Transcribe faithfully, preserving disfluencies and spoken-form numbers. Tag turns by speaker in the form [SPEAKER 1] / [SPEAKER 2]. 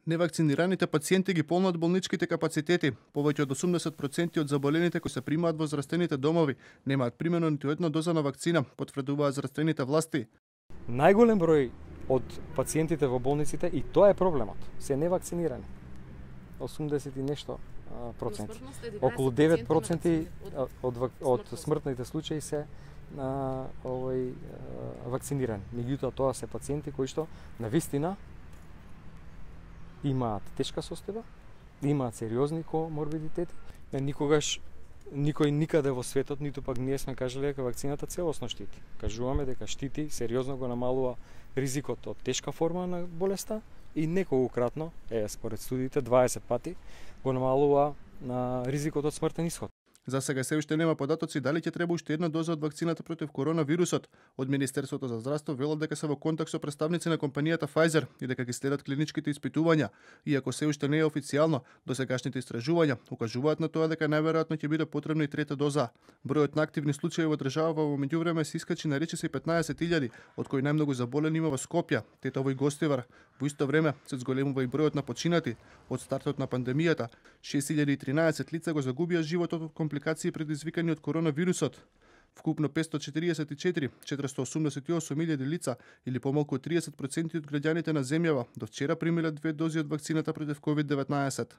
[SPEAKER 1] Невакцинираните пациенти ги полнат болничките капацитети. Повеќе од осумдесет проценти од заболените кои се примаат во здравствените домови немаат примено ниту една доза на вакцина, потврдуваат здравствените власти.
[SPEAKER 2] Најголем број од пациентите во болниците, и тоа е проблемот, се невакцинирани. осумдесет и нешто проценти. Околу девет проценти од, од смртните случаи се а, овој, а, вакцинирани. Меѓутоа тоа се пациенти кои што навистина имаат тешка состојба, имаат сериозни коморбидитети. Никогаш никој никаде во светот, ниту пак ние сме кажале дека вакцината целосно штити. Кажуваме дека штити, сериозно го намалува ризикот од тешка форма на болеста и неколкократно, е според студиите дваесет пати, го намалува на ризикот од смртен исход.
[SPEAKER 1] За сега се уште нема податоци дали ќе треба уште една доза од вакцината против коронавирусот. Од Министерството за здравство велат дека се во контакт со представници на компанијата Pfizer и дека ги следат клиничките испитувања. Иако се уште не е официјално, досегашните истражувања укажуваат на тоа дека најверојатно ќе биде потребна и трета доза. Бројот на активни случаи во државава во меѓувреме се искачи на речиси петнаесет илјади, од кои најмногу заболени има во Скопје, Тетово и Гостивар. Во исто време се зголемува и бројот на починати. Од стартот на пандемијата, шест илјади и тринаесет лица го загубија животот од компликации предизвикани од коронавирусот. Вкупно петстотини и четириесет и четири четиристотини и осумдесет и осум илјади лица или помалку од триесет проценти од граѓаните на земјава до вчера примиле две дози од вакцината против ковид деветнаесет.